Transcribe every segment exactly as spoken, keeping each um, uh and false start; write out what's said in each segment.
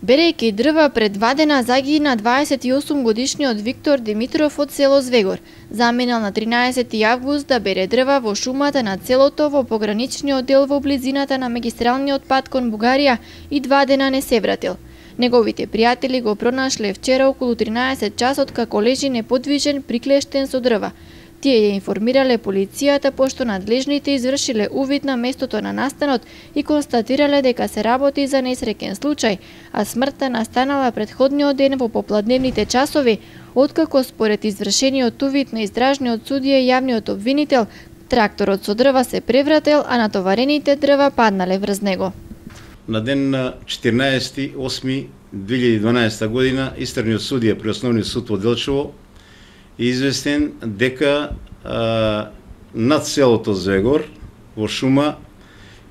Берејќи дрва пред два дена загина дваесет и осум годишниот Виктор Димитров од село Звегор. Заминал на тринаесети август да бере дрва во шумата на селото во пограничниот дел во близината на магистралниот пат кон Бугарија и два дена не се вратил. Неговите пријатели го пронашле вчера околу тринаесет часот како лежи неподвижен приклештен со дрва. Тие ја информирале полицијата пошто надлежните извршиле увид на местото на настанот и констатирале дека се работи за несреќен случај, а смртта настанала претходниот ден во попладневните часови, откако според извршениот увид на издржниот судија и јавниот обвинител, тракторот со дрва се превратил, а натоварените дрва паднале врз него. На ден на четирнаесети осми две илјади и дванаесета година истражниот судија при Основниот суд во Делчево известен дека а, над селото Звегор во шума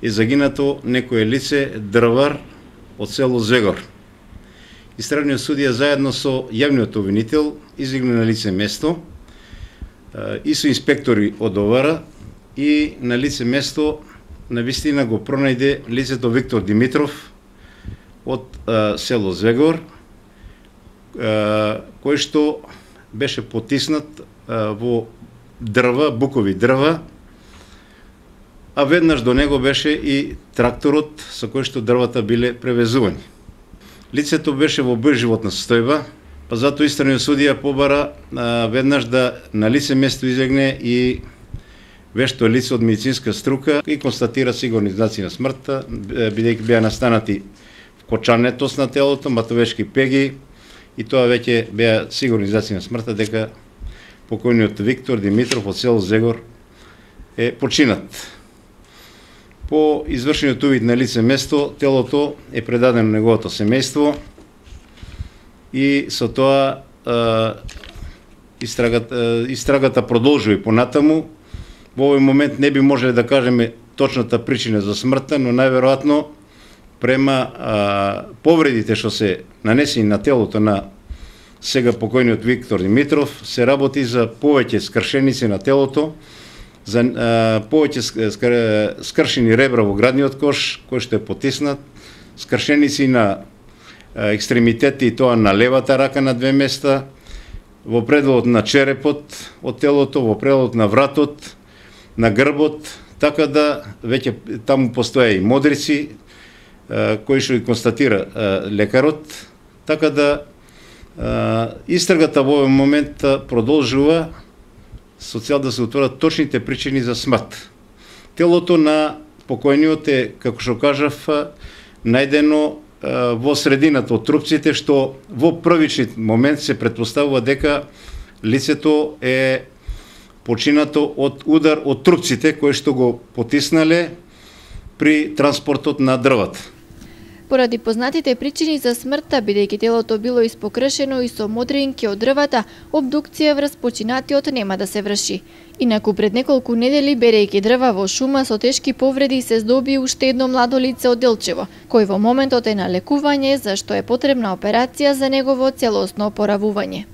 е загинато некое лице дрвар од село Звегор. Истражниот судија заедно со јавниот обвинител излегна на лице место а, и со инспектори од ОВР и на лице место навистина го пронајде лицето Виктор Димитров од а, село Звегор, а, кој што беше потиснат а, во дрва, букови дрва, а веднаш до него беше и тракторот со кој што дрвата биле превезувани. Лицето беше во безживотна состојба, па затоа истражниот судија побара а, веднаш да на лице место излегне и вешто лице од медицинска струка и констатира сигурни знаци на смртта, бидејќи беа настанати вкочанетост на телото, матовешки пеги, и тоа веќе беа сигурни знаци на смртта дека покојниот Виктор Димитров од село Звегор е починат. По извршениот увид на лице место, телото е предадено на неговото семејство и со тоа а, истрагата, истрагата продолжува и понатаму. Во овој момент не би можеле да кажеме точната причина за смртта, но најверојатно према а, повредите што се нанесени на телото на сега покојниот Виктор Димитров, се работи за повеќе скршеници на телото, за а, повеќе скр, скршени ребра во градниот кош, кој што е потиснат, скршеници на а, екстремитети и тоа на левата рака на две места, во пределот на черепот од телото, во пределот на вратот, на грбот, така да веќе таму постоја и модрици, кои што ги констатира лекарот, така да истрагата во овој момент продолжува со цел да се утворат точните причини за смрт. Телото на покојниот е, како што кажав, најдено во средината од трупците, што во првичен момент се претпоставува дека лицето е починато од удар од трупците кои што го потиснале при транспортот на дрвата. Поради познатите причини за смртта, бидејќи телото било испокршено и со модринки од дрвата, обдукција врз починатиот нема да се врши. Инаку пред неколку недели, берејќи дрва во шума со тешки повреди, се здоби уште едно младо лице од Делчево, кој во моментот е на лекување, за што е потребна операција за негово целосно опоравување.